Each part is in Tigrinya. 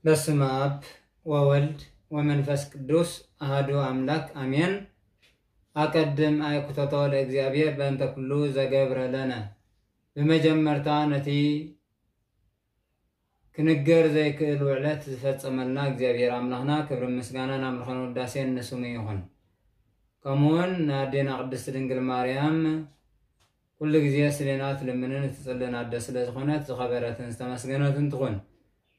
በስመ አብ ወወልድ ወመንፈስ ቅዱስ አሐዱ አምላክ አሜን። አቀድም አይ ኩተቶ ለእግዚአብሔር በእንተ ኩሉ ዘገብረ ለነ። ብመጀመርታ ነቲ ክንገር ዘይክእል ውዕለት ዝፈጸመልና እግዚኣብሔር ኣምላኽና ክብርን ምስጋናን ኣምልኾን ውዳሴን ንስሙ ይኹን። ከምኡውን ንኣዴና ቅድስት ድንግል ማርያም ኩሉ ግዜ ስሌና ትልምንን እትጽልን ኣደ ስለ ዝኾነት ዝኸበረትን ዝተመስገነትን ትኹን።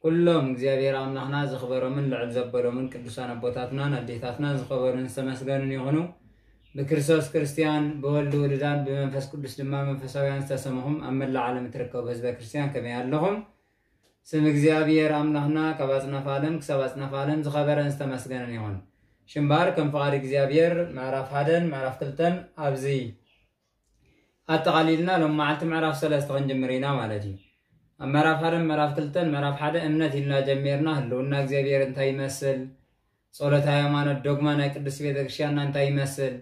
ኩሎም እግዚኣብሔር ኣምላኽና ዝኽበሮምን ልዕል ዘበሎምን ቅዱሳን ኣቦታትናን ኣዴታትናን ዝኸበሩን ዝተመስገኑን ይኹኑ። ብክርስቶስ ክርስቲያን፣ ብወልድ ውሉዳን፣ ብመንፈስ ቅዱስ ድማ መንፈሳውያን ዝተሰምኹም ኣብ መላእ ዓለም እትርከቡ ህዝበ ክርስቲያን ከመይ ኣለኹም? ስም እግዚኣብሔር ኣምላኽና ካብ ኣጽናፍ ዓለም ክሳብ ኣጽናፍ ዓለም ዝኸበረን ዝተመስገነን ይኹን። ሽምባር ከም ፍቓድ እግዚኣብሔር ምዕራፍ ሓደን ምዕራፍ ክልተን ኣብዚ ኣጠቓሊልና ሎም መዓልቲ ምዕራፍ ሰለስተ ክንጅምር ኢና ማለት እዩ። ኣብ ምዕራፍ ሓደን ምዕራፍ ክልተን ምዕራፍ ሓደ እምነት ኢልና ጀሚርና ህልውና እግዚኣብሔር እንታይ ይመስል፣ ጸሎት ሃይማኖት ዶግማ ናይ ቅድስት ቤተ ክርስቲያንና እንታይ ይመስል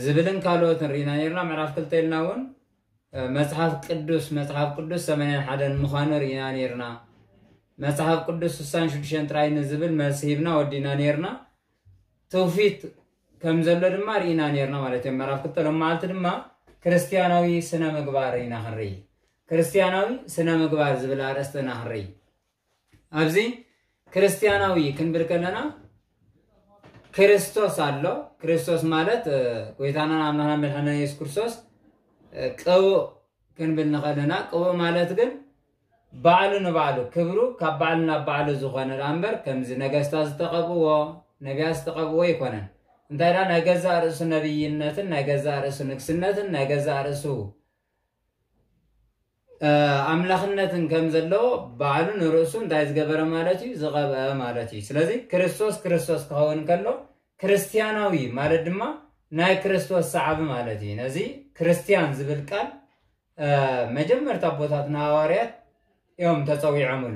ዝብልን ካልኦትን ርኢና ነርና። ምዕራፍ ክልተ ኢልና እውን መጽሓፍ ቅዱስ መጽሓፍ ቅዱስ ሰማንያን ሓደን ምዃኑ ርኢና ነርና። መጽሓፍ ቅዱስ ስሳን ሽዱሽተን ጥራይ ንዝብል መልሲ ሂብና ወዲና ነርና። ትውፊት ከም ዘሎ ድማ ርኢና ነርና ማለት እዮም። ምዕራፍ ክልተ ሎም መዓልቲ ድማ ክርስቲያናዊ ስነ ምግባር ኢና ክንርኢ። ክርስቲያናዊ ስነ ምግባር ዝብል ኣርእስቲ ኢና ክንርኢ። ኣብዚ ክርስቲያናዊ ክንብል ከለና ክርስቶስ ኣሎ። ክርስቶስ ማለት ጎይታናን ኣምላኽና መድሓና የሱስ ክርስቶስ ቅቡእ ክንብል ንኸለና፣ ቅቡእ ማለት ግን ባዕሉ ንባዕሉ ክብሩ ካብ ባዕሉ ናብ ባዕሉ ዝኾነ ደኣ እምበር ከምዚ ነገስታት ዝተቐብዎ፣ ነቢያት ዝተቐብዎ ኣይኮነን። እንታይ ደኣ ናይ ገዛእ ርእሱ ነብይነትን ናይ ገዛእ ርእሱ ንግስነትን ናይ ገዛእ ርእሱ ኣምላኽነትን ከም ዘለዎ ባዕሉ ንርእሱ እንታይ ዝገበረ ማለት እዩ? ዝቐብአ ማለት እዩ። ስለዚ ክርስቶስ ክርስቶስ ክኸውን ከሎ ክርስቲያናዊ ማለት ድማ ናይ ክርስቶስ ሰዓቢ ማለት እዩ። ነዚ ክርስቲያን ዝብል ቃል መጀመርታ ኣቦታትና ሃዋርያት እዮም ተጸዊዖምሉ።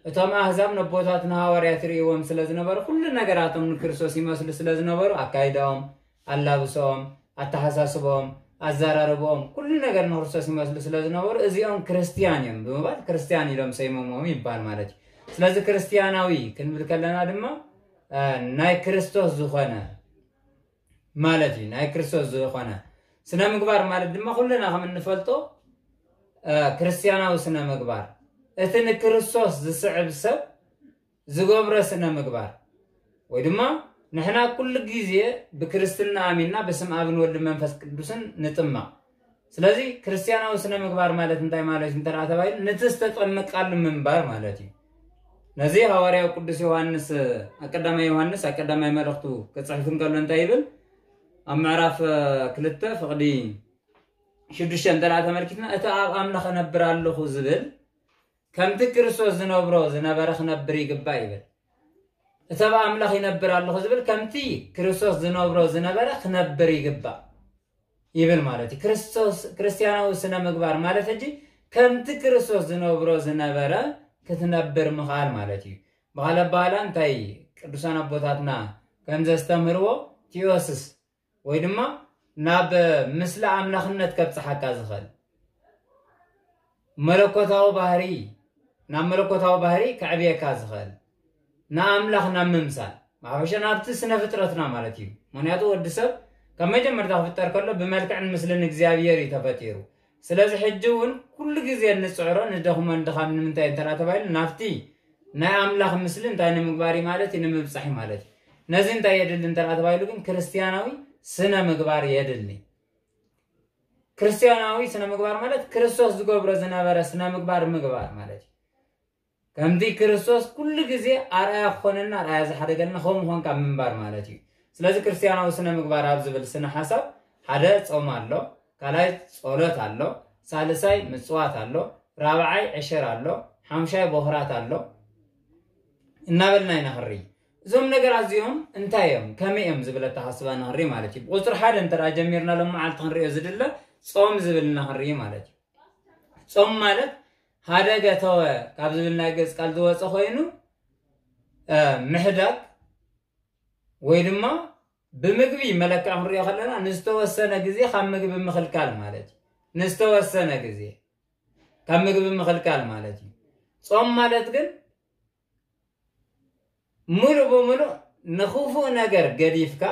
እቶም ኣህዛብ ነቦታትና ሃዋርያት ይርእይዎም ስለ ዝነበሩ፣ ኩሉ ነገራቶም ንክርስቶስ ይመስሉ ስለ ዝነበሩ፣ ኣካይዳኦም፣ ኣላብሶኦም፣ ኣተሓሳስቦኦም፣ ኣዘራርቦኦም፣ ኩሉ ነገር ንክርስቶስ ይመስሉ ስለ ዝነበሩ፣ እዚኦም ክርስትያን እዮም ብምባል ክርስትያን ኢሎም ሰይሞሞም ይባል ማለት እዩ። ስለዚ ክርስትያናዊ ክንብል ከለና ድማ ናይ ክርስቶስ ዝኾነ ማለት እዩ። ናይ ክርስቶስ ዝኾነ ስነ ምግባር ማለት ድማ ኩልና ከም እንፈልጦ ክርስትያናዊ ስነ ምግባር እቲ ንክርስቶስ ዝስዕብ ሰብ ዝገብሮ ስነ ምግባር ወይ ድማ ንሕና ኩሉ ግዜ ብክርስትና ኣሚንና ብስም ኣብን ወልድ መንፈስ ቅዱስን ንጥመቕ። ስለዚ ክርስትያናዊ ስነ ምግባር ማለት እንታይ ማለት እዩ እንተ ተባሂሉ፣ ነቲ ዝተጠመቃሉ ምንባር ማለት እዩ። ነዚ ሃዋርያው ቅዱስ ዮሃንስ፣ ኣብ ቀዳማይ ዮሃንስ ኣብ ቀዳማይ መልእኽቱ ክጽሕፍ እንከሎ እንታይ ይብል? ኣብ ምዕራፍ ክልተ ፍቕዲ ሽዱሽተ እንተ ተመልኪትና፣ እቲ ኣብ ኣምላኽ እነብር ኣለኹ ዝብል ከምቲ ክርስቶስ ዝነብሮ ዝነበረ ክነብር ይግባእ ይብል። እቲ ኣብ ኣምላኽ ይነብር ኣለኹ ዝብል ከምቲ ክርስቶስ ዝነብሮ ዝነበረ ክነብር ይግባእ ይብል ማለት እዩ። ክርስቶስ ክርስትያናዊ ስነ ምግባር ማለት ሕጂ ከምቲ ክርስቶስ ዝነብሮ ዝነበረ ክትነብር ምኽኣል ማለት እዩ። ብኻልእ ኣባህላ እንታይ ቅዱሳን ኣቦታትና ከም ዘስተምህርዎ ቲኦስስ ወይ ድማ ናብ ምስሊ ኣምላኽነት ከብጽሓካ ዝኽእል መለኮታዊ ባህሪ፣ ናብ መለኮታዊ ባህሪ ከዕብየካ ዝኽእል ንኣምላኽ ናብ ምምሳል፣ ብሓፈሻ ናብቲ ስነ ፍጥረትና ማለት እዩ። ምኽንያቱ ወዲ ሰብ ካብ መጀመርታ ክፍጠር ከሎ ብመልክዕን ምስልን እግዚኣብሔር እዩ ተፈጢሩ። ስለዚ ሕጂ እውን ኩሉ ግዜ እንጽዕሮ ንደኽሞ ንድኻም ንምንታይ እንተ ተባሂሉ ናብቲ ናይ ኣምላኽ ምስሊ እንታይ ንምግባር እዩ ማለት እዩ? ንምብጻሕ እዩ ማለት እዩ። ነዚ እንታይ የድሊ እንተ ተባሂሉ ግን ክርስትያናዊ ስነ ምግባር የድሊ። ክርስትያናዊ ስነ ምግባር ማለት ክርስቶስ ዝገብሮ ዝነበረ ስነ ምግባር ምግባር ማለት እዩ። ከምቲ ክርስቶስ ኩሉ ግዜ ኣርኣያ ክኾነና ኣርኣያ ዝሓደገልና ከምኡ ኮንካ ምንባር ማለት እዩ። ስለዚ ክርስትያናዊ ስነ ምግባር ኣብ ዝብል ስነ ሓሳብ ሓደ ጾም ኣሎ፣ ካልኣይ ጸሎት ኣሎ፣ ሳልሳይ ምጽዋት ኣሎ፣ ራብዓይ ዕሽር ኣሎ፣ ሓምሻይ ቦኽራት ኣሎ እናበልና ኢና ክንርኢ። እዞም ነገራት እዚኦም እንታይ እዮም ከመይ እዮም ዝብል ኣተሓስባ ንክንርኢ ማለት እዩ። ብቁፅሪ ሓደ እንተ ጀሚርና ሎም መዓልቲ ክንሪኦ ዝድለ ጾም ዝብል ንክንርኢ ማለት እዩ። ጾም ማለት ሃደገ ተወ ካብ ዝብል ናይ ግእዝ ቃል ዝወፀ ኮይኑ ምሕዳግ ወይ ድማ ብምግቢ መለክዕ ክንሪኦ ከለና ንዝተወሰነ ግዜ ካብ ምግቢ ምኽልካል ማለት እዩ። ንዝተወሰነ ግዜ ካብ ምግቢ ምኽልካል ማለት እዩ። ጾም ማለት ግን ሙሉእ ብሙሉእ ንኽፉእ ነገር ገዲፍካ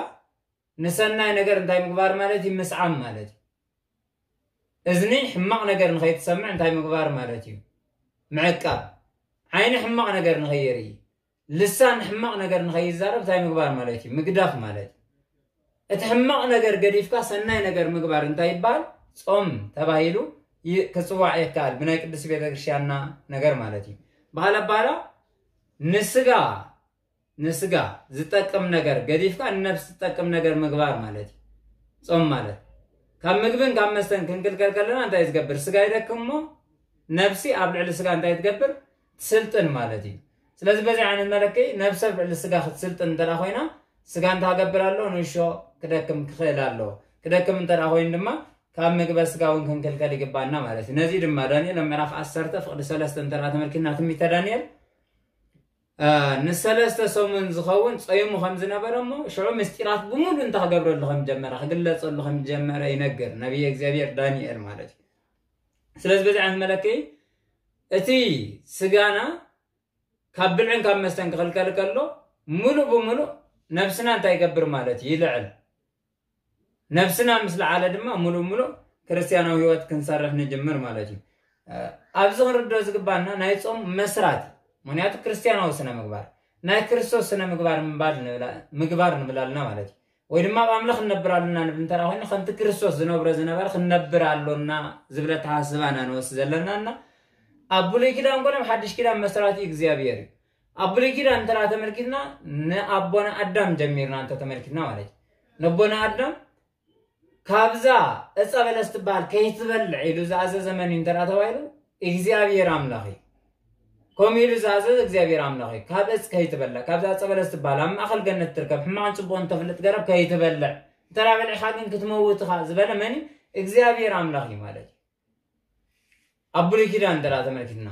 ንሰናይ ነገር እንታይ ምግባር ማለት እዩ? ምስዓም ማለት እዩ። እዝኒ ሕማቕ ነገር ንኸይትሰምዕ እንታይ ምግባር ማለት እዩ? ምዕቃብ። ዓይኒ ሕማቕ ነገር ንኸይርኢ፣ ልሳን ሕማቕ ነገር ንኸይዛረብ እንታይ ምግባር ማለት እዩ? ምግዳፍ ማለት እዩ። እቲ ሕማቕ ነገር ገዲፍካ ሰናይ ነገር ምግባር እንታይ ይበሃል? ጾም ተባሂሉ ይ- ክጽዋዕ የከኣል፣ ብናይ ቅድስት ቤተክርስትያንና ነገር ማለት እዩ። በዓል ኣባላ ንስጋ ንስጋ ዝጠቅም ነገር ገዲፍካ ንነፍሲ ዝጠቅም ነገር ምግባር ማለት እዩ። ጾም ማለት ካብ ምግብን ካብ መስተን ክንክልከል ከለና እንታይ ዝገብር? ስጋ ይደክም እሞ ነፍሲ ኣብ ልዕሊ ስጋ እንታይ ትገብር? ትስልጥን ማለት እዩ። ስለዚ በዚ ዓይነት መለክዒ ነፍሲ ኣብ ልዕሊ ስጋ ክትስልጥን እንተ ኮይና ስጋ እንታይ ክገብር ኣሎ? ንሾ ክደክም ክኽእል ኣሎ። ክደክም እንተ ኮይኑ ድማ ካብ ምግበ ስጋ እውን ክንክልከል ይግባና ማለት እዩ። ነዚ ድማ ዳንኤል ኣብ ምዕራፍ ዓሰርተ ፍቕዲ ሰለስተ እንተ ተመልኪትና ትንቢተ ዳንኤል ንሰለስተ ሰሙን ዝኸውን ጸይሙ ከም ዝነበረ እሞ ሽዑ ምስጢራት ብምሉ እንታይ ክገብረሉ ከም ጀመረ ክግለጸሉ ከም ጀመረ ይነግር ነቢየ እግዚኣብሔር ዳንኤል ማለት እዩ። ስለዚ በዚ ዓይነት መለክዒ እቲ ስጋና ካብ ብልዕን ካብ መስተን ክኽልከል ከሎ ሙሉእ ብሙሉእ ነብስና እንታይ ይገብር ማለት እዩ? ይልዕል። ነብስና ምስ ለዓለ ድማ ሙሉእ ሙሉእ ክርስትያናዊ ህይወት ክንሰርሕ ንጅምር ማለት እዩ። ኣብዚ ክንርድኦ ዝግባና ናይ ጾም መስራት፣ ምክንያቱ ክርስትያናዊ ስነ ምግባር ናይ ክርስቶስ ስነ ምግባር ምባል ንብላ- ምግባር ንብል ኣለና ማለት እዩ። ወይ ድማ ኣብ ኣምላኽ ንነብር ኣለና ንብል እንተ ኮይና ከምቲ ክርስቶስ ዝነብሮ ዝነበረ ክንነብር ኣሎና ዝብል ኣተሓሳስባ ኢና ንወስድ ዘለና እና ኣብ ብሉይ ኪዳን ኮነ ኣብ ሓድሽ ኪዳን መስራቲ እግዚኣብሔር እዩ። ኣብ ብሉይ ኪዳን እንተ ተመልኪትና ንኣቦና ኣዳም ጀሚርና እንተ ተመልኪትና ማለት እዩ። ነቦና ኣዳም ካብዛ እፀ በለስ ትበሃል ከይትበልዕ ኢሉ ዝኣዘዘ መን እዩ እንተ ተባሂሉ እግዚኣብሔር ኣምላኽ እዩ። ከምኡ ኢሉ ዝኣዘዘ እግዚኣብሔር ኣምላኽ እዩ። ካብ እፅ ከይትበልዕ ካብዛ እፀ በለስ ትበሃል ኣብ ማእኸል ገነት ትርከብ ሕማቕን ፅቡቕን ተፍልጥ ገረብ ከይትበልዕ እንተ በሊዕኻ ግን ክትመውት ኢኻ ዝበለ መን እዩ? እግዚኣብሔር ኣምላኽ እዩ ማለት እዩ። ኣብ ብሉይ ኪዳን እንተ ተመልኪትና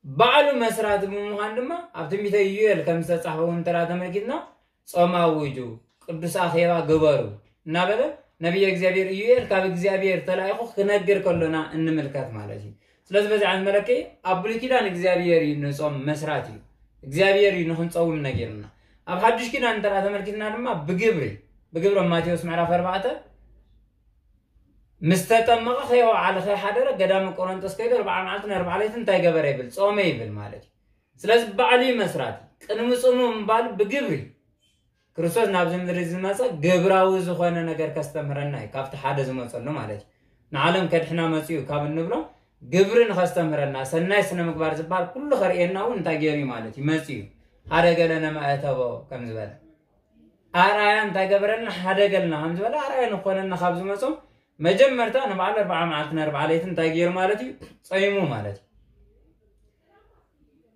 ባዕሉ መስራቲ ብምዃን ድማ ኣብ ትንቢተ ኢዩኤል ከም ዝተጻሕፈ እውን እንተ ተመልኪትና ጾም ኣውጁ፣ ቅዱስ ኣኼባ ግበሩ እናበለ ነቢየ እግዚኣብሔር ኢዩኤል ካብ እግዚኣብሔር ተላኢኹ ክነግር ከሎና እንምልከት ማለት እዩ። ስለዚ በዚ ዓይነት መለክዒ ኣብ ብሉይ ኪዳን እግዚኣብሔር እዩ ንጾም መስራት እዩ። እግዚኣብሔር እዩ ንክንጸውም ነጊርና። ኣብ ሓዱሽ ኪዳን እንተ ተመልኪትና ድማ ብግብሪ ብግብሪ ኣብ ማቴዎስ ምዕራፍ ኣርባዕተ ምስ ተጠመቐ ከየውዓለ ከይሓደረ ገዳመ ቆሮንጦስ ከይዱ ኣርብዓ መዓልትን ኣርብዓ ለይትን እንታይ ገበረ ይብል? ጾመ ይብል ማለት እዩ። ስለዚ ባዕሉ እዩ መስራቲ። ቅድሚ ጽሙ ምባል ብግብሪ ክርስቶስ ናብዚ ምድሪ ዝመጸ ግብራዊ ዝኾነ ነገር ከስተምህረና እዩ። ካብቲ ሓደ ዝመጸሉ ማለት እዩ። ንዓለም ከድሕና መጺኡ ካብ እንብሎ ግብሪ ንኸስተምህረና ሰናይ ስነ ምግባር ዝበሃል ኩሉ ከርእየና እውን እንታይ ገይሩ እዩ ማለት እዩ። መጺኡ ሓደ ገለ ነማእተቦ ከም ዝበለ ኣርኣያ እንታይ ገበረልና? ሓደገልና ከም ዝበለ ኣርኣያ ንኾነና ካብ ዝመጾም መጀመርታ ንባዕሉ ኣርብዓ መዓልትን ኣርብዓ ለይቲ እንታይ ገይሩ ማለት እዩ? ጸይሙ ማለት እዩ።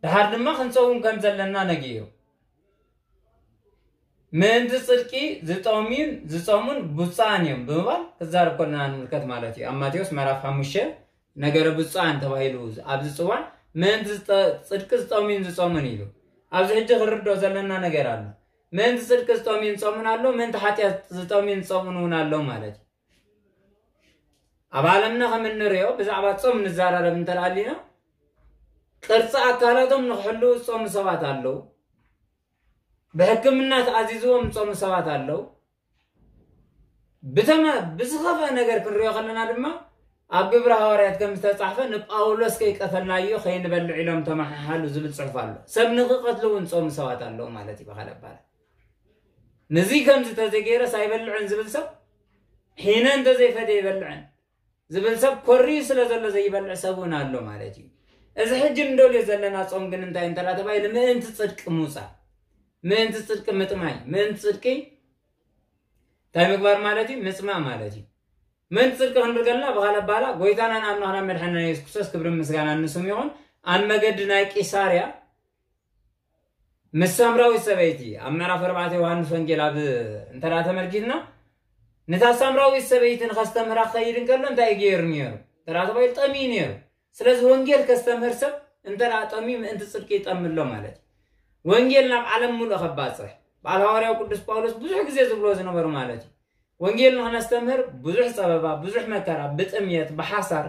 ድሓር ድማ ክንጸውም ከም ዘለና ነጊሩ ምእንቲ ጽድቂ ዝጠምዩን ዝጸሙን ብፁዓን እዮም ብምባል ክዛረብ ከለና ንምልከት ማለት እዩ። ኣብ ማቴዎስ ምዕራፍ ሓሙሽተ ነገረ ብፁዓን ተባሂሉ ኣብ ዝጽዋዕ ምእንቲ ዝጠ- ጽድቂ ዝጠምዩን ዝጸሙን ኢሉ ኣብዚ ሕጂ ክንርድኦ ዘለና ነገር ኣሎ። ምእንቲ ጽድቂ ዝጠምዩን ዝጸሙን ኣሎ፣ ምእንቲ ሓጢኣት ዝጠምዩን ዝጸሙን እውን ኣሎ ማለት እዩ። ኣብ ዓለምና ከም እንሪኦ ብዛዕባ ጾም ንዘራረብ እንተደኣ ኣሊና ቅርፂ ኣካላቶም ንክሕልው ዝጾሙ ሰባት ኣለዉ። ብሕክምና ተኣዚዝዎም ዝጾሙ ሰባት ኣለዉ። ብተመ ብዝኸፍአ ነገር ክንሪኦ ከለና ድማ ኣብ ግብሪ ሃዋርያት ከም ዝተፃሕፈ ንጳውሎስ ከይቀተልናዮ ከይንበልዕ ኢሎም ተመሓሓሉ ዝብል ፅሑፍ ኣሎ። ሰብ ንክቐትሉ እውን ዝጾሙ ሰባት ኣለዉ ማለት እዩ ብካልእ ኣባላት። ንዚ ከምዚ ተዘይገይረስ ኣይበልዕን ዝብል ሰብ ሒነ እንተዘይፈትየ ይበልዕን ዝብል ሰብ ኮርዩ ስለ ዘሎ ዘይበልዕ ሰብ እውን ኣሎ ማለት እዩ። እዚ ሕጂ እንደልዮ ዘለና ጾም ግን እንታይ እንተ ተባሂሉ ምእንቲ ጽድቂ ምውጻእ፣ ምእንቲ ጽድቂ ምጥማይ፣ ምእንቲ ጽድቂ እንታይ ምግባር ማለት እዩ? ምጽማእ ማለት እዩ። ምእንቲ ጽድቂ ክንብል ከለና ብኻልእ ኣባህላ ጎይታናን ኣምላኽናን መድሓኒና የሱስ ክርስቶስ ክብርን ምስጋናን ንስሙ ይኹን ኣብ መገዲ ናይ ቂሳርያ ምስ ሳምራዊት ሰበይቲ ኣብ ምዕራፍ ኣርባዕተ ዮሃንስ ወንጌል ኣብ እንተ ተመልኪትና ነታ ሳምራዊት ሰበይቲ ንኸስተምህራ ክኸይድ እንከሎ እንታይ ገይሩ ነይሩ? ተራ ተባሂሉ ጠምዩ ነይሩ። ስለዚ ወንጌል ከስተምህር ሰብ እንተ ጠምዩ ምእንቲ ጽድቂ ይጠሚ ኣሎ ማለት እዩ። ወንጌል ናብ ዓለም ሙሉእ ከባጽሕ በዓል ሃዋርያው ቅዱስ ጳውሎስ ብዙሕ ግዜ ዝብሎ ዝነበሩ ማለት እዩ። ወንጌል ንክነስተምህር ብዙሕ ጸበባ፣ ብዙሕ መከራ፣ ብጥምየት፣ ብሓሳር፣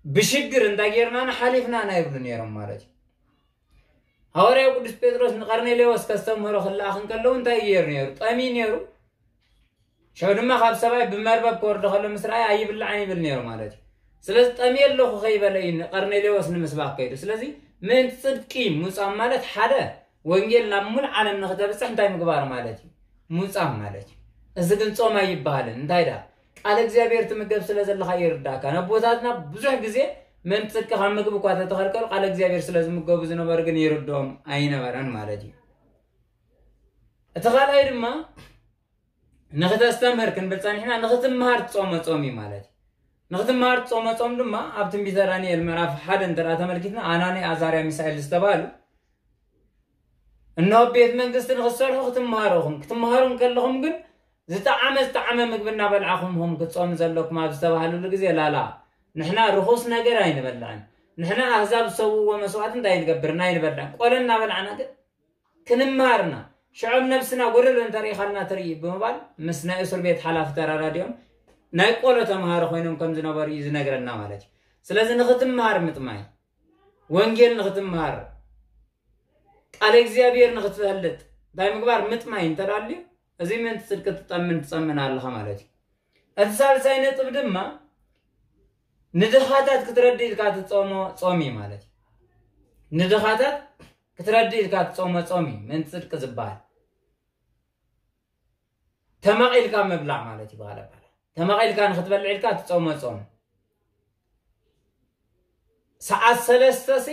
ብሽግር እንታይ ጌርናና ሓሊፍናና ይብሉ ነይሮም ማለት እዩ። ሃዋርያው ቅዱስ ጴጥሮስ ንቀርኔሌዎስ ከስተምህሮ ክለኣኽ እንከለዉ እንታይ እዩ ገይሩ ነይሩ? ጠምዩ ነይሩ። ሽዑ ድማ ካብ ሰማይ ብመርበብ ክወርድ ከሎ ምስ ረኣየ ኣይብላዕን ይብል ነይሩ ማለት እዩ። ስለዚ ጠምየ ኣለኹ ከይበለ እዩ ንቀርኔሌዎስ ንምስባኽ ከይዱ። ስለዚ ምእንቲ ጽድቂ ምውጻእ ማለት ሓደ ወንጌል ናብ ሙሉ ዓለም ንክተብጽሕ እንታይ ምግባር ማለት እዩ? ምውጻእ ማለት እዩ። እዚ ግን ጾም ኣይበሃልን። እንታይ ደኣ? ቃል እግዚኣብሔር ትምገብ ስለ ዘለኻ ይርዳእካ። ነቦታትና ብዙሕ ግዜ ምእንቲ ጽድቂ ካብ ምግቢ እኳ ተተኸልከሉ ቃል እግዚኣብሔር ስለ ዝምገቡ ዝነበሩ ግን ይርድኦም ኣይነበረን ማለት እዩ። እቲ ካልኣይ ድማ ንክተስተምህር ክንብል ጸኒሕና ንክትምሃር ትጾሞ ጾም እዩ ማለት እዩ። ንክትምሃር ትጾሞ ጾም ድማ ኣብ ትንቢተ ዳንኤል ምዕራፍ ሓደ እንተ ደኣ ተመልኪትና ኣናንያ፣ ኣዛርያ፣ ሚሳኤል ዝተባህሉ እንሆ ቤት መንግስቲ ንክትሰርሑ ክትምሃሩ ኢኹም። ክትምሃሩ እንከለኹም ግን ዝጠዓመ ዝጠዓመ ምግቢ እናበልዓኹም ኢኹም ክትጾሙ ዘለኩም ኣብ ዝተባህልሉ ግዜ ላላ ንሕና ርኹስ ነገር ኣይንበልዕን። ንሕና ኣህዛብ ዝሰውዎ መስዋዕቲ እንታይ ንገብርን ኣይንበልዕን። ቆሎ እናበላዕና ግን ክንምሃርና ሽዖም ነብስና ጎደሎ እንተሪኢኻልና ትርኢ ብምባል ምስ ናይ እስር ቤት ሓላፊ ተራዳዲኦም ናይ ቆሎ ተምሃሮ ኮይኖም ከም ዝነበሩ እዩ ዝነግረና ማለት እዩ። ስለዚ ንክትምሃር ምጥማይ፣ ወንጌል ንክትምሃር፣ ቃለ እግዚኣብሔር ንክትፈልጥ እንታይ ምግባር ምጥማይ እንተዳልዩ እዚ ምእንቲ ጽድቂ ትጠምን ትጸምን ኣለኻ ማለት እዩ። እቲ ሳልሳይ ነጥብ ድማ ንድኻታት ክትረዲ ኢልካ ትጾሞ ጾም እዩ ማለት እዩ። ንድኻታት ክትረዲ ኢልካ ትጾሞ ጾም እዩ ምእንቲ ጽድቂ ዝበሃል። ተመቒልካ ምብላዕ ማለት እዩ። ብኻልእ ኣባህላ ተመቒልካ ንክትበልዕ ኢልካ ትጾሞ ጾም። ሰዓት ሰለስተ ሲ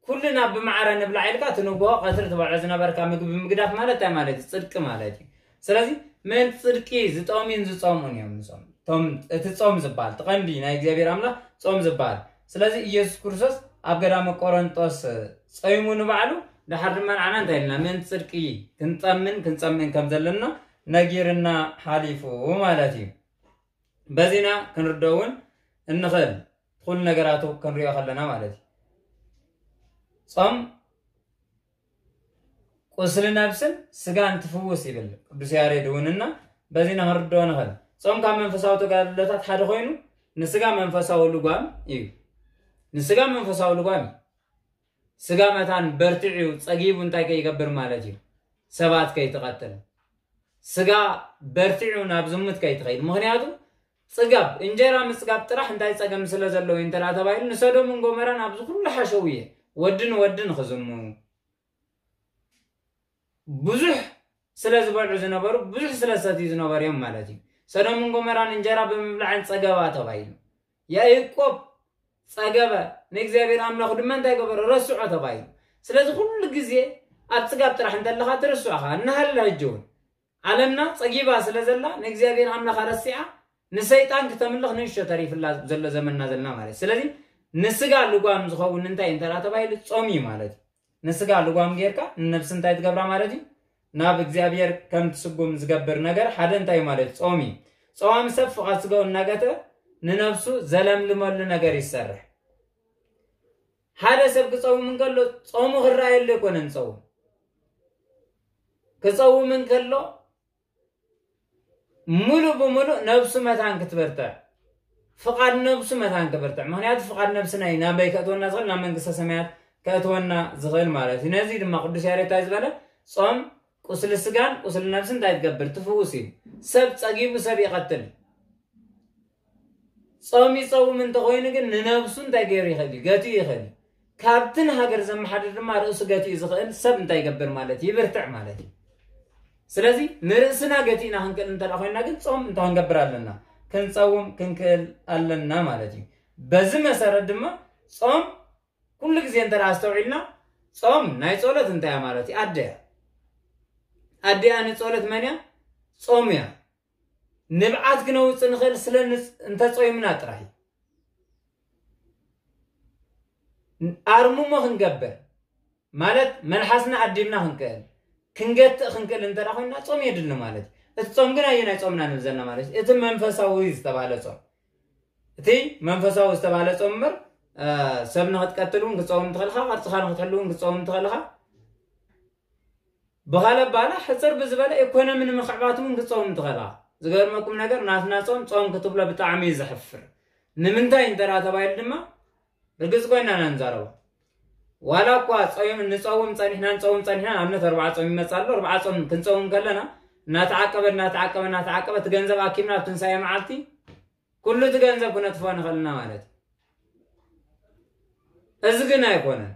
ኩልና ብማዕረ ንብላዕ ኢልካ ትንጎ ቀትሪ ትበልዖ ዝነበርካ ምግቢ ምግዳፍ ማለት እንታይ ማለት እዩ? ጽድቂ ማለት እዩ። ስለዚ ምእንቲ ጽድቂ ዝጠምዩን ዝጸምኡን እዮም ንጾም። እቶም እቲ ጾም ዝበሃል እቲ ቀንዲ ናይ እግዚኣብሔር ኣምላኽ ጾም ዝበሃል። ስለዚ ኢየሱስ ክርስቶስ ኣብ ገዳመ ቆሮንጦስ ጸይሙ ንባዕሉ ድሓር ድማ ንዓና እንታይ ኢልና ምእንቲ ጽድቂ ክንጠምን ክንጸምእን ከም ዘለና ነጊርና ሓሊፉ ማለት እዩ። በዚና ክንርዶ እውን እንኽእል ኩሉ ነገራቱ ክንሪኦ ከለና ማለት እዩ። ጾም ቁስሊ ነብስን ስጋን ትፍውስ ይብል ቅዱስ ያሬድ እውን እና በዚና ክንርዶ ንኽእል። ጾም ካብ መንፈሳዊ ተጋድሎታት ሓደ ኮይኑ ንስጋ መንፈሳዊ ልጓም እዩ። ንስጋ መንፈሳዊ ልጓም እዩ። ስጋ መታን በርቲዑ ጸጊቡ እንታይ ከይገብር ማለት እዩ? ሰባት ከይትቐትል። ስጋ በርቲዑ ናብ ዝሙት ከይትኸይድ። ምኽንያቱ ጽጋብ፣ እንጀራ ምጽጋብ ጥራሕ እንታይ ጸገም ስለ ዘለዎ እዩ እንተ ደኣ ተባሂሉ ንሰዶምን ጎመራን ኣብዚ ኩሉ ሓሸውየ ወዲ ንወዲ ንኽዝሙ ብዙሕ ስለ ዝበልዑ ዝነበሩ ብዙሕ ስለ ዝሰትዩ ዝነበሩ እዮም ማለት እዩ። ሰዶምን ጎመራን እንጀራ ብምብላዕን ጸገባ ተባሂሉ። ያዕቆብ ጸገበ፣ ንእግዚኣብሔር ኣምላኹ ድማ እንታይ ገበረ? ረስዖ ተባሂሉ። ስለዚ ኩሉ ግዜ ኣብ ጽጋብ ጥራሕ እንተለኻ ትርስዖኻ እናሃለ ሕጂ እውን ዓለምና ጸጊባ ስለ ዘላ ንእግዚኣብሔር ኣምላኻ ረሲዓ ንሰይጣን ክተምልኽ ንእሽቶ ተሪፍላ ዘሎ ዘመንና ዘለና ማለት እዩ። ስለዚ ንስጋ ልጓም ዝኸውን እንታይ እንተ ደኣ ተባሂሉ ጾም እዩ ማለት እዩ። ንስጋ ልጓም ጌርካ ንነብሲ እንታይ ትገብራ ማለት እዩ? ናብ እግዚኣብሔር ከም ትስጉም ዝገብር ነገር ሓደ እንታይ ማለት እዩ? ጾም እዩ። ጸዋሚ ሰብ ፍቓድ ስጋኡ እናገተ ንነብሱ ዘለምልመሉ ነገር ይሰርሕ። ሓደ ሰብ ክጸውም እንከሎ ጾሙ ክረኣየሉ ኣይኮነን ጸውም። ክጸውም እንከሎ ሙሉእ ብሙሉእ ነብሱ መታን ክትበርትዕ፣ ፍቓድ ነብሱ መታን ክበርትዕ። ምኽንያቱ ፍቓድ ነብስና እዩ ናበይ ከእትወና ዝኽእል? ናብ መንግስተ ሰማያት ከእትወና ዝኽእል ማለት እዩ። ነዚ ድማ ቅዱስ ያሬድ እንታይ ዝበለ? ጾም ቁስሊ ስጋን ቁስሊ ነብስን እንታይ ትገብር? ትፍውስ እዩ። ሰብ ጸጊቡ ሰብ ይቐትል። ጾም ይጸውም እንተኾይኑ ግን ንነብሱ እንታይ ገይሩ ይኽእል እዩ? ገትኡ ይኽእል እዩ። ካብቲ ንሃገር ዘመሓድር ድማ ርእሱ ገትኡ ዝኽእል ሰብ እንታይ ይገብር ማለት እዩ? ይብርትዕ ማለት እዩ። ስለዚ ንርእስና ገቲእና ክንክእል እንተ ደኣ ኮይንና ግን ጾም እንታይ ክንገብር ኣለና? ክንጸውም ክንክእል ኣለና ማለት እዩ። በዚ መሰረት ድማ ጾም ኩሉ ግዜ እንተ ደኣ ኣስተውዒልና ጾም ናይ ጸሎት እንታይ እያ ማለት እዩ? ኣደ እያ። ኣደ እያ ንጸሎት መን እያ? ጾም እያ። ንብዓት ክነውጽእ ንኽእል ስለ ንጽ-፣ እንተጾይምና ጥራይ እዩ። ኣርምሞ ክንገብር ማለት መልሓስና ኣዲብና ክንክእል፣ ክንገትእ ክንክእል እንተ ደኣ ኮይንና ጾም የድሊ ማለት እዩ። እቲ ጾም ግን ኣየናይ ጾምና ንብል ዘለና ማለት እዩ? እቲ መንፈሳዊ ዝተባህለ ጾም። እቲ መንፈሳዊ ዝተባህለ ጾም እምበር፣ እ፣ ሰብ ንኽትቀትል እውን ክትጸውም ትኽእል ኢኻ፣ ቅርጽኻ ንኽትሕሉ እውን ክትጸውም ትኽእል ኢኻ። ብኻልእ ኣባህላ ሕጽር ብዝበለ ኢኮኖሚ ንምኽዕባት እውን ክትጸውም ትኽእል ኢኻ። ዝገርመኩም ነገር ናትና ጾም ጾም ክትብሎ ብጣዕሚ እዩ ዘሕፍር። ንምንታይ እንተ ደኣ ተባሂሉ ድማ ርግጽ ኮይና ኢና ንዛረቦ። ዋላ እኳ ጾም ንጸውም ጸኒሕና ንጸውም ጸኒሕና ኣብነት ኣርባዓ ጾም ይመጽእ ኣሎ። ኣርባዓ ጾም ክንጸውም ከለና እናተዓቀበ እናተዓቀበ እናተዓቀበ እቲ ገንዘብ ኣኪብና ኣብ ትንሳኤ መዓልቲ ኩሉ እቲ ገንዘብ ክነጥፍኦ ንኽእልና ማለት እዩ። እዚ ግን ኣይኮነን።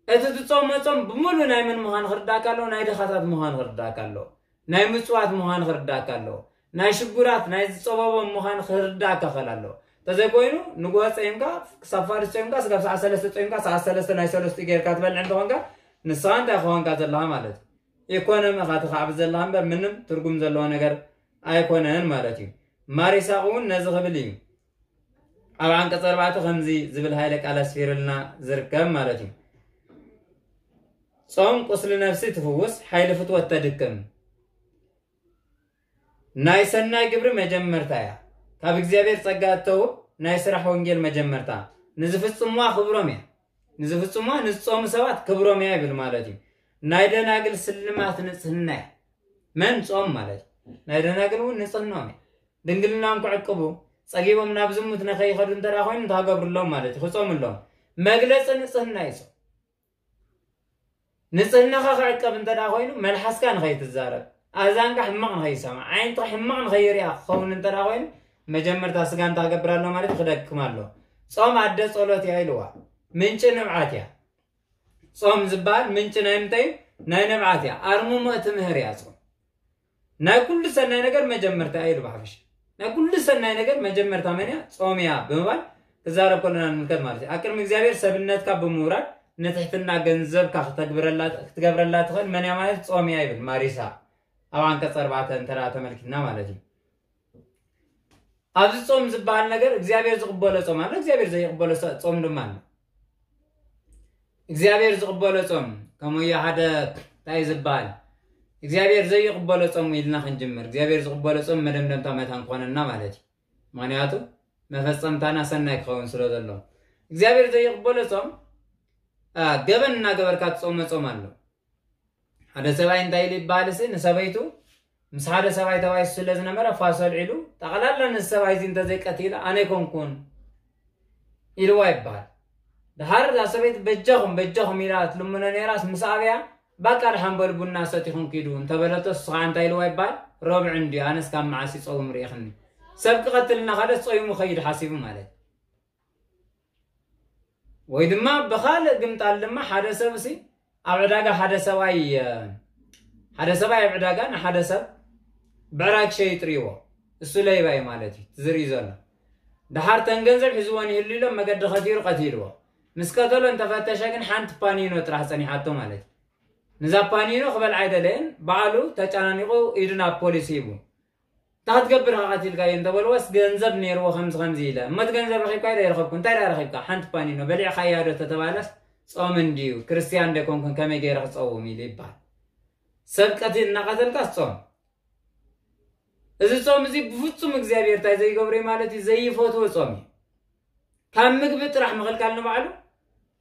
እቲ ትጾሞ ጾም ብምሉእ ናይ መን ምዃን ክርዳእካ ኣለዎ? ናይ ድኻታት ምዃን ክርዳእካ ኣለዎ። ናይ ምጽዋት ምዃን ክርዳእካ ኣለዎ። ናይ ሽጉራት ናይ ዝጸበቦም ምዃን ክርዳእካ ክእል ኣለዎ። እንተዘይኮይኑ ንግሆ ጸይምካ ክሳብ ፋርስ ጸይምካ ስጋብ ሰዓት ሰለስተ ጸይምካ ሰዓት ሰለስተ ናይ ሰለስተ ጌርካ ትበልዕ እንተኾንካ ንስኻ እንታይ ክኾንካ ዘለኻ ማለት እዩ። ኢኮኖሚ ኢኻ ትኻዕብ ዘለኻ እምበር ምንም ትርጉም ዘለዎ ነገር ኣይኮነን ማለት እዩ። ማሪሳቕ እውን ነዚ ክብል እዩ ኣብ ዓንቀጽ ኣርባዕተ ከምዚ ዝብል ሃይለ ቃል ኣስፊርልና ዝርከብ ማለት እዩ። ጾም ቁስሊ ነፍሲ ትፍውስ፣ ሓይሊ ፍትወት ተድክም፣ ናይ ሰናይ ግብሪ መጀመርታ እያ። ካብ እግዚኣብሔር ጸጋ እተውብ ናይ ስራሕ ወንጌል መጀመርታ። ንዝፍጽምዋ ክብሮም እያ። ንዝፍጽምዋ ንዝጾሙ ሰባት ክብሮም እያ ይብል ማለት እዩ። ናይ ደናግል ስልማት ንጽህና እያ። መን ጾም ማለት እዩ። ናይ ደናግል እውን ንጽህናኦም እያ። ድንግልናም ክዕቅቡ ጸጊቦም ናብ ዝሙት ንኸይኸዱ እንተ ደኣ ኮይኑ እንታይ ገብርሎም ማለት እዩ። ክጾምሎም። መግለጺ ንጽህና እዩ ጾም። ንጽህናኻ ክዕቀብ እንተ ደኣ ኮይኑ መልሓስካ ንኸይትዛረብ፣ ኣዛንካ ሕማቕ ንኸይሰማዕ፣ ዓይንትኻ ሕማቕ ንኸይርያ ክኸውን እንተ ደኣ ኮይኑ መጀመርታ ስጋ እንታይ ክገብር ኣሎ ማለት እዩ፣ ክደክም ኣሎ። ጾም ኣደ ጸሎት እያ ኢልዋ። ምንጪ ንብዓት እያ። ጾም ዝበሃል ምንጪ ናይ ምንታይ እዩ? ናይ ንብዓት እያ። ኣርምሞ ትምህር እያ ጾም። ናይ ኩሉ ሰናይ ነገር መጀመርታ እዩ ኢሉ ብሓፈሻ። ናይ ኩሉ ሰናይ ነገር መጀመርታ መን እያ? ጾም እያ ብምባል ክዛረብ ከለና ንምልከት ማለት እዩ። ኣብ ቅድሚ እግዚኣብሔር ሰብነትካ ብምውራድ ንትሕትና ገንዘብካ ክተግብረላ ክትገብረላ ትኽእል መን እያ ማለት ጾም እያ ይብል ማሪሳ ኣብ ዓንቀጽ ኣርባዕተ እንተ ደኣ ተመልኪትና ማለት እዩ። ኣብዚ ጾም ዝበሃል ነገር እግዚኣብሔር ዝቕበሎ ጾም ኣሎ፣ እግዚኣብሔር ዘይቕበሎ ሰ- ጾም ድማ ኣሎ። እግዚኣብሔር ዝቕበሎ ጾም ከምኡ እዩ ሓደ እንታይ ዝበሃል እግዚኣብሔር ዘይቕበሎ ጾም ኢልና ክንጅምር እግዚኣብሔር ዝቕበሎ ጾም መደምደምታ መታን ክኾነና ማለት እዩ። ምክንያቱ መፈጸምታና ሰናይ ክኸውን ስለ ዘሎ እግዚኣብሔር ዘይቕበሎ ጾም አ፣ ገበን እናገበርካ ትጾሞ ጾም ኣሎ። ሓደ ሰብኣይ እንታይ ኢሉ ይበሃል እሲ ንሰበይቱ ምስ ሓደ ሰብኣይ ተባኢሱ ስለ ዝነበረ ፋሶ ኣልዒሉ ጠቕላላ ነዚ ሰብኣይ እዚ እንተዘይቀቲለ ኣነ ኣይኮንኩን ኢልዋ ይበሃል። ድሓር እዛ ሰበይቲ በጃኹም በጃኹም ኢላ ትልምኖ ነይራስ ምስ ኣብያ ባቃ ድሓን በሉ ቡና ሰቲኹም ኪዱ እንተበለቶ እሱ ከዓ እንታይ ኢልዋ ይበሃል? ረብዑ እንድዩ ኣነስ ካብ መዓስ ይፀውም ርኢኽኒ ሰብ ክቐትል እናኸደስ ፀይሙ ኸይድ ሓሲቡ ማለት ወይ ድማ ብኻልእ ግምጣል ድማ ሓደ ሰብ ሲ ኣብ ዕዳጋ ሓደ ሰብኣይ ሓደ ሰብኣይ ኣብ ዕዳጋ ንሓደ ሰብ ብዕራይ ክሸይጥ ርእይዎ እሱ ለይባ እዩ ማለት እዩ ዝርኢ ዘሎ ድሓር ተን ገንዘብ ሒዝዎ ንህሉ ኢሎም መገዲ ከቲሩ ቀቲልዎ ምስ ቀተሎ እንተፈተሸ ግን ሓንቲ ፓኒኖ ጥራሕ ጸኒሓቶ ማለት እዩ ንዛ ፓኒኖ ክበልዓ ኣይደለየን ባዕሉ ተጨናኒቑ ኢዱ ናብ ፖሊስ ሂቡ እንታይ ክትገብር ኢኻ ቀቲልካዮ እንተበልዎስ ገንዘብ ነይርዎ ከምዚ ከምዚ ኢለ እሞ እቲ ገንዘብ ረኺብካዮ ዶ ኣይረኸብኩ እንታይ ደኣ ረኺብካ ሓንቲ ፓኒኖ በሊዕካያ ዶ ተተባለስ ጾም እንድዩ ክርስትያን ዶ ኣይኮንኩን ከመይ ገይረ ክጸውም ኢሉ ይበሃል ሰብ ቀቲል እናቐተልካስ ጾም እዚ ጾም እዚ ብፍጹም እግዚኣብሔር እንታይ ዘይገብሮ እዩ ማለት እዩ ዘይፈትዎ ጾም እዩ ካብ ምግቢ ጥራሕ ምኽልካል ንባዕሉ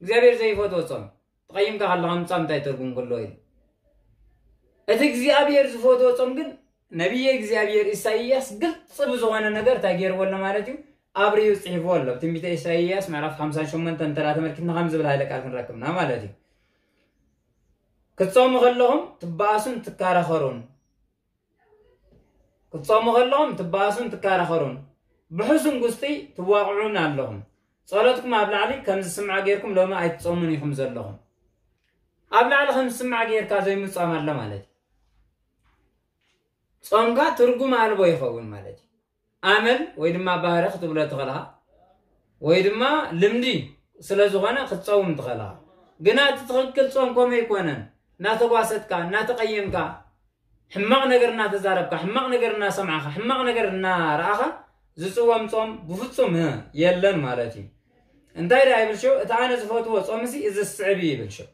እግዚኣብሔር ዘይፈትዎ ጾም እዩ ትቐይምካ ከለኻ ምጻም እንታይ ትርጉም ክህልዎ ኢሉ እቲ እግዚኣብሔር ዝፈትዎ ጾም ግን ነቢየ እግዚኣብሔር ኢሳይያስ ግልፂ ብዝኾነ ነገር እንታይ ገይርዎ ኣሎ ማለት እዩ ኣብርዩ ፅሒፍዎ ኣሎ ትንቢተ ኢሳይያስ ምዕራፍ ሓምሳን ሸሞንተን እንተ ተመልኪትና ከም ዝብል ሃይለ ቃል ክንረክብና ማለት እዩ ክትጾሙ ከለኹም ትበኣሱን ትከራኸሩን ክትጾሙ ከለኹም ትበኣሱን ትከራኸሩን ብሕሱም ጉስጢ ትዋቕዑን ኣለኹም ጸሎትኩም ኣብ ላዕሊ ከም ዝስምዓ ጌርኩም ሎሚ ኣይትጾሙን ኢኹም ዘለኹም ኣብ ላዕሊ ከም ዝስማዕ ጌርካ ዘይምጻም ኣሎ ማለት እዩ ጾምካ ትርጉም ኣልቦ ይኸውን ማለት እዩ ኣመል ወይ ድማ ባህሪ ክትብሎ ትኽእልኻ ወይ ድማ ልምዲ ስለ ዝኾነ ክትጸውም ትኽእልኻ ግና እቲ ትኽክል ጾም ከምኡ ኣይኮነን እናተጓሰጥካ እናተቐየምካ ሕማቕ ነገር እናተዛረብካ ሕማቕ ነገር እናሰማዕኻ ሕማቕ ነገር እናረኣኻ ዝጽወም ጾም ብፍጹም የለን ማለት እዩ እንታይ ዳ ይብል ሽው እቲ ኣነ ዝፈትዎ ጾምሲ እዚ ዝስዕብ እዩ ይብል ሽው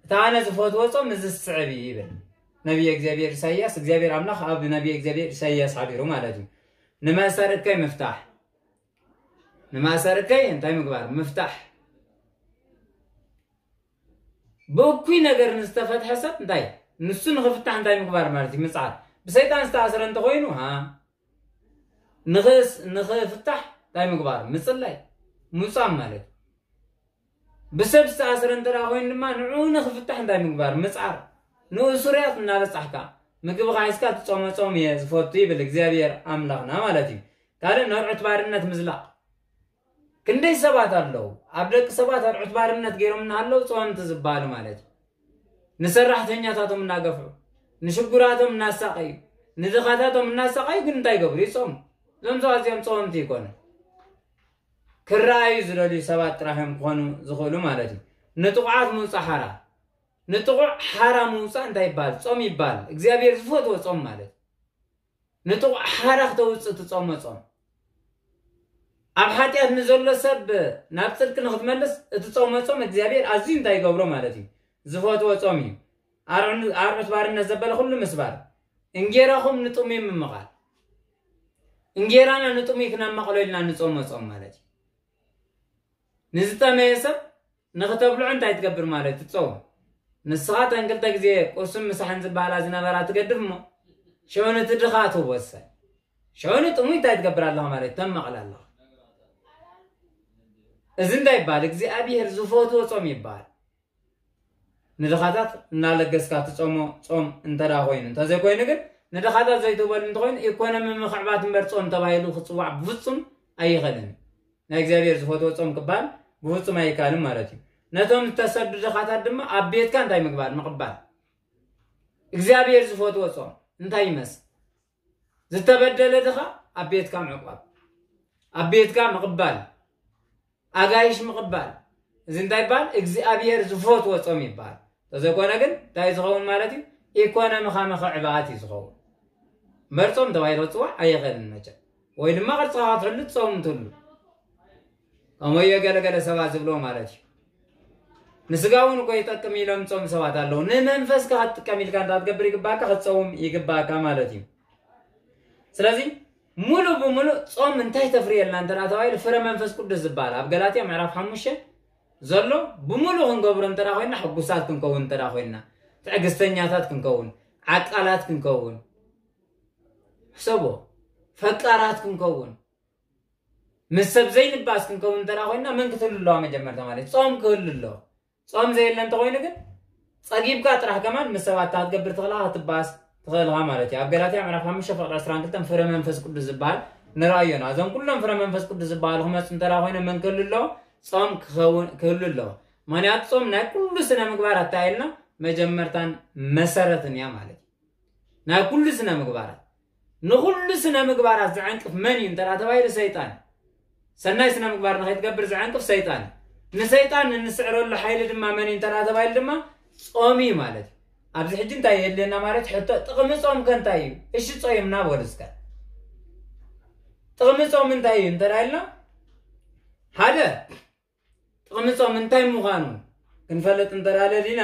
እቲ ኣነ ዝፈትዎ ጾም እዚ ዝስዕብ እዩ ይብል ነቢየ እግዚኣብሔር ኢሳይያስ እግዚኣብሔር ኣምላኽ ኣብ ነቢየ እግዚኣብሔር ኢሳይያስ ሓቢሩ ማለት እዩ ንመእሰር እከይ ምፍታሕ ንመእሰር እከይ እንታይ ምግባር ምፍታሕ ብእኩይ ነገር ንዝተፈትሐ ሰብ እንታይ ንሱ ንኽፍታሕ እንታይ ምግባር ማለት እዩ ምፅዓር ብሰይጣን ዝተኣስረ እንተኮይኑ ንኽፍታሕ እንታይ ምግባር ምፅላይ ምፃም ማለት እዩ ብሰብ ዝተኣስረ እንተ ደኣ ኮይኑ ድማ ንዕኡ ንኽፍታሕ እንታይ ምግባር? ምጽዓር። ንእሱርያት እናበጻሕካ ምግብኻ ሒዝካ ትጾሞ ጾም እየ ዝፈቱ ይብል እግዚኣብሔር ኣምላኽና ማለት እዩ። ካልእ ነርዑት ባርነት ምዝላቕ። ክንደይ ሰባት ኣለዉ ኣብ ደቂ ሰባት ኣርዑት ባርነት ገይሮም እናሃለዉ ጸወምቲ ዝበሃሉ ማለት እዩ። ንሰራሕተኛታቶም እናገፍዑ፣ ንሽጉራቶም እናሳቐዩ፣ ንድኻታቶም እናሳቐዩ ግን እንታይ ይገብሩ? ይጾሙ። እዞም ሰባት እዚኦም ጸወምቲ ይኮኑ። ክረኣዩ ዝደልዩ ሰባት ጥራሕ እዮም ክኾኑ ዝኽእሉ ማለት እዩ። ንጥቑዓት ምውጻእ ሓራ። ንጥቑዕ ሓራ ምውጻእ እንታይ ይበሃል? ጾም ይበሃል። እግዚኣብሔር ዝፈትዎ ጾም ማለት እዩ። ንጥቑዕ ሓራ ክተውጽእ ትጾሞ ጾም። ኣብ ሓጢኣት ንዘሎ ሰብ ናብ ጽድቂ ንኽትመልስ እቲ ጾሞ ጾም እግዚኣብሔር ኣዝዩ እንታይ ይገብሮ ማለት እዩ? ዝፈትዎ ጾም እዩ። ኣርዑ-፣ ኣርዑት ባርነት ዘበለ ኩሉ ምስባር። እንጌራኹም ንጥሙይ ምምቓል። እንጌራና ንጥሙይ ክነማቕሎ ኢልና ንጾሞ ጾም ማለት እዩ። ንዝጠመየ ሰብ ንኽተብልዖ እንታይ ትገብር ማለት ትጸውም? ንስኻ ተን ክልተ ግዜ ቁርስን ምሳሕን ዝበሃላ ዝነበራ ትገድፍ እሞ፣ ሸው ነቲ ድኻ ትወሰን። ሸው ንጥሙይ እንታይ ትገብር ኣለኻ ማለት ተማቕል ኣለኻ። እዚ እንታይ ይበሃል? እግዚኣብሔር ዝፈትዎ ጾም ይበሃል። ንድኻታት እናለገስካ ትጾሞ ጾም እንተ ደኣ ኮይኑ፣ እንተዘይኮይኑ ግን ንድኻታት ዘይትህበሉ እንተኾይኑ ኢኮኖሚ ምኽዕባት እምበር ጾም ተባሂሉ ክጽዋዕ ብፍጹም ኣይኽእልን። ናይ እግዚኣብሔር ዝፈትዎ ጾም ክበሃል ብፍጹም ኣይከኣልን ማለት እዩ። ነቶም ዝተሰዱ ድኻታት ድማ ኣብ ቤትካ እንታይ ምግባር? ምቕባል። እግዚኣብሔር ዝፈትዎ ጾም እንታይ ይመስል? ዝተበደለ ድኻ ኣብ ቤትካ ምዕቋብ፣ ኣብ ቤትካ ምቕባል፣ ኣጋይሽ ምቕባል። እዚ እንታይ ይበሃል? እግዚኣብሔር ዝፈትዎ ጾም ይበሃል። ተዘይኮነ ግን እንታይ ዝኸውን ማለት እዩ? ኢኮኖሚኻ ምኽዕባት እዩ ዝኸውን። እምበር ጾም ተባሂሉ ክጽዋዕ ኣይኽእልን መቸም። ወይ ድማ ቅርጽኻ ክትሕሉ ትጸውም ትህሉ። ከምኡ እዮ ገለገለ ሰባት ዝብሎ ማለት እዩ። ንስጋ እውን እኮ ይጠቅም ኢሎም ጾም ሰባት ኣለዉ። ንመንፈስካ ክትጥቀም ኢልካ እንታ ትገብር ይግባእካ፣ ክትጸውም ይግባእካ ማለት እዩ። ስለዚ ሙሉ ብሙሉ ጾም እንታይ ተፍርየልና እንተ ደኣ ተባሂሉ ፍረ መንፈስ ቅዱስ ዝበሃል ኣብ ገላትያ ምዕራፍ ሓሙሽተ ዘሎ ብሙሉ ክንገብሮ እንተ ደኣ ኮይንና፣ ሕጉሳት ክንከውን እንተ ደኣ ኮይንና፣ ትዕግስተኛታት ክንከውን፣ ዓቃላት ክንከውን፣ ሕሰቦ፣ ፈቃራት ክንከውን፣ ምስ ሰብ ዘይንባስ ክንከውን እንተ ደኣ ኮይንና መን ክትህሉ ኣለዋ? መጀመርታ ማለት ጾም ክህሉ ኣለዎ። ጾም ዘየለ እንተኾይኑ ግን ጸጊብካ ጥራሕ ከማን ምስ ሰባት እታ ክትገብር ትኽእልኻ ክትባስ ትኽእልኻ ማለት እዩ። ኣብ ገላትያ ምዕራፍ ሓሙሽተ ፍቕዲ ዕስራን ክልተን ፍረ መንፈስ ቅዱስ ዝበሃል ንረኣዮና። እዞም ኩሎም ፍረ መንፈስ ቅዱስ ዝበሃሉ ክመጹ እንተ ደኣ ኮይኖም መን ክህሉ ኣለዎ? ጾም ክኸውን፣ ክህሉ ኣለዎ። ምኽንያቱ ጾም ናይ ኩሉ ስነ ምግባራት እንታይ ኢልና? መጀመርታን መሰረትን እያ ማለት እዩ። ናይ ኩሉ ስነ ምግባራት፣ ንኹሉ ስነ ምግባራት ዝዕንቅፍ መን እዩ እንተ ደኣ ተባሂሉ ሰይጣን። ሰናይ ስነ ምግባር ንኸይትገብር ዝዕንቅፍ ሰይጣን እዩ። ንሰይጣን እንስዕረሉ ሓይሊ ድማ መን እዩ እንተ ደኣ ተባሂሉ ድማ ጾም እዩ ማለት እዩ። ኣብዚ ሕጂ እንታይ የድልየና ማለት ሕቶ፣ ጥቕሚ ጾም ከ እንታይ እዩ? እሺ ጾይምና በሉ እስከ። ጥቕሚ ጾም እንታይ እዩ እንተ ደኣ ኢልና፣ ሓደ ጥቕሚ ጾም እንታይ ምዃኑ ክንፈልጥ እንተ ደኣ ደሊና፣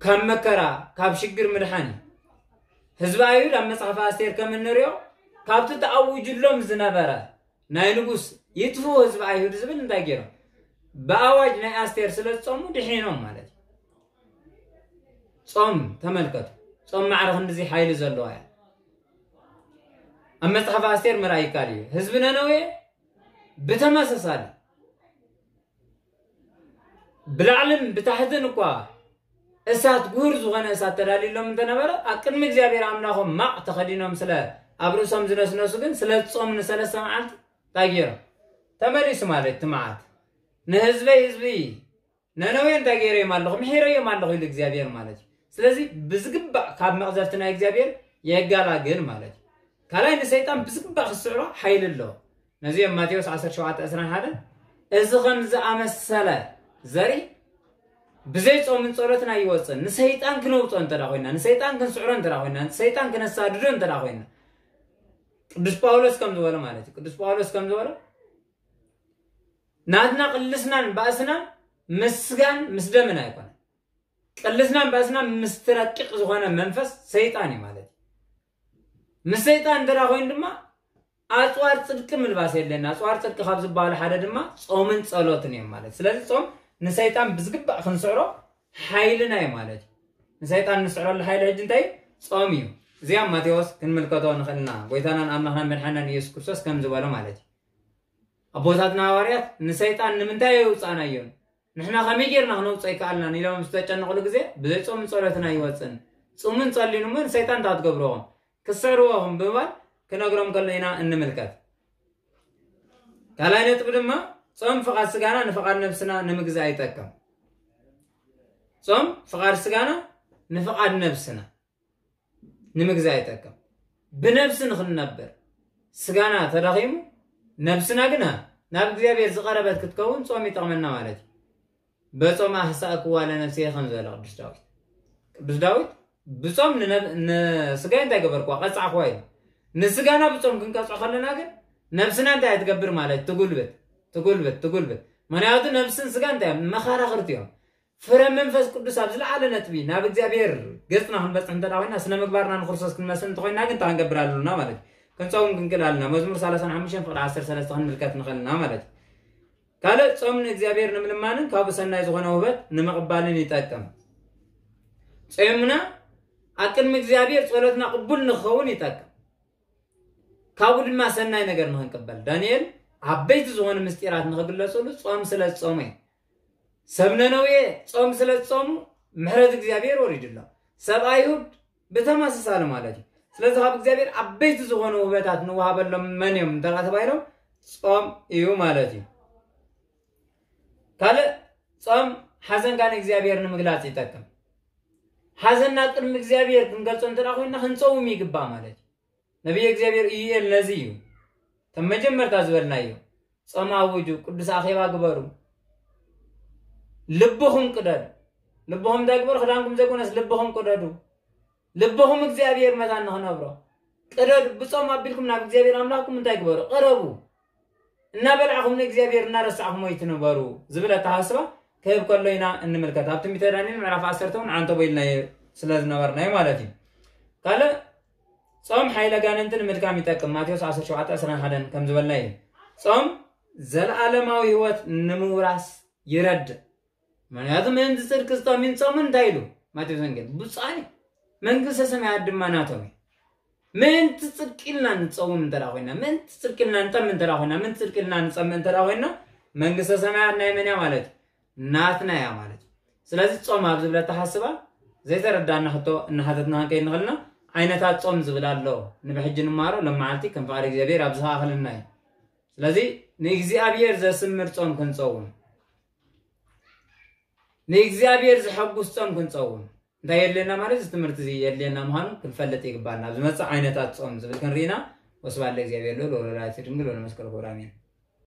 ካብ መከራ፣ ካብ ሽግር ምድሓን እዩ። ህዝቢ ኣይሁድ ኣብ መጽሓፍ ኣስቴር ከም እንሪኦ ካብቲ ተኣዊጁሎም ዝነበረ ናይ ንጉስ ይጥፍኡ ህዝቢ ኣይሁድ ዝብል እንታይ ገይሮም? ብኣዋጅ ናይ ኣስቴር ስለ ዝጾሙ ድሒኖም ማለት እዩ። ጾም ተመልከቱ። ጾም ማዕረ ክንድዚ ሓይሊ ዘለዋ እያ። ኣብ መጽሓፍ ኣስቴር ምርኣይ ይካል እዩ። ህዝቢ ነነዌ ብተመሳሳሊ ብላዕልን ብታሕትን እኳ እሳት፣ ጉህር ዝኾነ እሳት ተዳልዩሎም እንተነበረ፣ ኣብ ቅድሚ እግዚኣብሔር ኣምላኾም ማቕ ተኸዲኖም ስለ ኣብ ርእሶም ዝነስነሱ ግን ስለ ዝጾሙ ንሰለስተ መዓልቲ እንታይ ገይሮም? ተመሊሱ ማለት እቲ መዓት። ንህዝበይ ህዝቢ ነነዌ እንታይ ገይረዮም ኣለኹ? ምሒረዮም ኣለኹ ኢሉ እግዚኣብሔር ማለት እዩ። ስለዚ ብዝግባእ ካብ መቕዘፍቲ ናይ እግዚኣብሔር የጋላግል ማለት እዩ። ካልኣይ ንሰይጣን ብዝግባእ ክስዕሮ ሓይሊ ኣለዎ። ነዚ እዮም ማቴዎስ ዓሰርተ ሸውዓተ ዕስራን ሓደን፣ እዚ ከም ዝኣመሰለ ዘርኢ ብዘይ ጾምን ጸሎትን ኣይወጽእን። ንሰይጣን ክነውጾ እንተ ደኣ ኮይና፣ ንሰይጣን ክንስዕሮ እንተ ደኣ ኮይና፣ ንሰይጣን ክነሳድዶ እንተ ደኣ ኮይና፣ ቅዱስ ጳውሎስ ከም ዝበሎ ማለት እዩ። ቅዱስ ጳውሎስ ከም ዝበሎ ናትና ቅልስናን ባእስናን ምስ ስጋን ምስ ደምን ኣይኮነን። ቅልስናን ባእስናን ምስቲ ረቂቕ ዝኾነ መንፈስ ሰይጣን እዩ ማለት እዩ። ምስ ሰይጣን እንተ ደኣ ኮይኑ ድማ ኣጽዋር ጽድቂ ምልባስ የድልየና። ኣጽዋር ጽድቂ ካብ ዝበሃሉ ሓደ ድማ ጾምን ጸሎትን እዮም ማለት። ስለዚ ጾም ንሰይጣን ብዝግባእ ክንስዕሮ ሓይልና እዩ ማለት እዩ። ንሰይጣን ንስዕረሉ ሓይሊ ሕጂ እንታይ እዩ? ጾም እዩ። እዚኣ ማቴዎስ ክንምልከቶ ንኽእል ኢና። ጎይታናን ኣምላኽናን መድሓናን ኢየሱስ ክርስቶስ ከም ዝበሎ ማለት እዩ። ኣቦታትና ሃዋርያት ንሰይጣን ንምንታይ የውፃናዮን ንሕና ከመይ ጌርና ክነውፅኦ ይከኣልናን ኢሎም ዝተጨነቕሉ ግዜ ብዘይ ጾምን ጸሎትን ኣይወፅን። ጹምን ጸልዩን እሞ ንሰይጣን እንታይ ትገብርዎም ክስዕርዎ ኢኹም ብምባል ክነግሮም ከሎ ኢና እንምልከት። ካልኣይ ነጥቢ ድማ ጾም ፍቓድ ስጋና ንፍቓድ ነብስና ንምግዛእ ይጠቅም። ጾም ፍቓድ ስጋና ንፍቓድ ነብስና ንምግዛእ ይጠቅም። ብነብሲ ንኽንነብር ስጋና ተዳኺሙ ነብስና ግና ናብ እግዚኣብሔር ዝቐረበት ክትከውን ጾም ይጠቕመና ማለት እዩ። በጾም ኣህሳእክዋ ለነፍስየ ከም ዝበለ ቅዱስ ዳዊት ቅዱስ ዳዊት ብጾም ንነብ- ንስጋይ እንታይ ገበርክዋ ቀጻዕክዋ እዩ። ንስጋና ብጾም ክንቀጽዖ ከለና ግን ነብስና እንታይ ትገብር ማለት ትጉልብት ትጉልብት ትጉልብት። ምክንያቱ ነብስን ስጋ እንታይ እዮም መኻራኽርቲ እዮም። ፍረ መንፈስ ቅዱስ ኣብ ዝለዓለ ነጥቢ ናብ እግዚኣብሔር ገጽና ክንበጽሕ እንተ ኮይና ስነ ምግባርና ንክርስቶስ ክንመስል እንተኮይና ግን እንታይ ክንገብር ኣለና ማለት እዩ። ክንፀውም ክንክእል ኣለና። መዝሙር ሰላሳን ሓሙሽተን ፍቕዲ ዓሰርተ ሰለስተ ክንምልከት ንኽእል ኢና ማለት እዩ። ካልእ ጾም ንእግዚኣብሔር ንምልማንን ካብኡ ሰናይ ዝኾነ ውህበት ንምቕባልን ይጠቅም። ጾምና ኣብ ቅድሚ እግዚኣብሔር ጸሎትና ቅቡል ንክኸውን ይጠቅም። ካብኡ ድማ ሰናይ ነገር ንክንቅበል ዳንኤል ዓበይቲ ዝኾኑ ምስጢራት ንክግለጽሉ ጾም ስለ ዝጾመ እዩ። ሰብ ነነዌ ጾም ስለ ዝጾሙ ምሕረት እግዚኣብሔር ወሪድሎም። ሰብ ኣይሁድ ብተመሳሳሊ ማለት እዩ። ስለዚ ካብ እግዚኣብሔር ዓበይቲ ዝኾኑ ውህበታት ንወሃበሎም መን እዮም እንተ ተባሂሎም ጾም እዩ ማለት እዩ። ካልእ ጾም ሓዘንካ ንእግዚኣብሔር ንምግላጽ ይጠቅም። ሓዘንና ቅድሚ እግዚኣብሔር ክንገልጾ እንተ ኮይንና ክንጸውም ይግባእ ማለት እዩ። ነቢይ እግዚኣብሔር ኢዩኤል ነዚ እዩ እቶም መጀመርታ ዝበልናዮ ጾም ኣውጁ፣ ቅዱስ ኣኼባ ግበሩ፣ ልብኹም ቅደዱ። ልብኹም እንታይ ግበሩ? ክዳንኩም ዘይኮነስ ልብኹም ቅደዱ። ልብኹም እግዚኣብሔር መታን ንኽነብሮ ቅደዱ። ብጾም ኣቢልኩም ናብ እግዚኣብሔር ኣምላኽኩም እንታይ ግበሩ? ቅረቡ። እናበላዕኹም ንእግዚኣብሔር እናረሳዕኹም ኣይትንበሩ ዝብል ኣተሓስባ ክህብ ከሎ ኢና እንምልከት። ኣብ ትንቢተ ዳንኤል ምዕራፍ ዓሰርተ እውን ዓንተቦ ኢልናዮ ስለ ዝነበርናዮ ማለት እዩ። ካልእ ጾም ሓይለ ጋንንቲ ንምድካም ይጠቅም። ማቴዎስ ዓሰርተ ሸውዓተ ዕስራን ሓደን ከም ዝበልና እዩ። ጾም ዘለዓለማዊ ህይወት ንምውራስ ይረድእ። ምክንያቱ ምእንቲ ጽድቂ ዝጠምዩን ጾምን እንታይ ኢሉ ማቴዎስ ወንጌል ብፁዓን መንግስተ ሰማያት ድማ ናቶም እዩ። ምእንቲ ጽድቂ ኢልና ንጸውም እንተ ኮይና ምእንቲ ጽድቂ ኢልና ንጠም እንተ ኮይና ምእንቲ ጽድቂ ኢልና ንጸምእ እንተ ኮይና መንግስተ ሰማያት ናይ መን እያ ማለት እዩ? ናትና እያ ማለት እዩ። ስለዚ ጾም ኣብ ዝብለ ተሓስባ ዘይተረዳና ሕቶ እናሓተትና ክንከይድ ንኽእልና ዓይነታት ጾም ዝብል ኣሎ። ንብሕጂ ንማሮ ሎም መዓልቲ ከም ፍቓድ እግዚኣብሔር ኣብ ዝኸኣኸልና እዩ። ስለዚ ንእግዚኣብሔር ዘስምር ጾም ክንጸውም ንእግዚኣብሔር ዘሐጉስ ጾም ክንጸውም እንታይ የድልየና ማለት እዚ ትምህርቲ እዚ የድልየና ምዃኑ ክንፈልጥ ይግባና። ኣብ ዝመጽእ ዓይነታት ጾም ዝብል ክንርኢና። ወስብሐት ለእግዚኣብሔር ልዑል ወለወላዲቱ ድንግል ወለመስቀሉ ክቡር ኣሜን።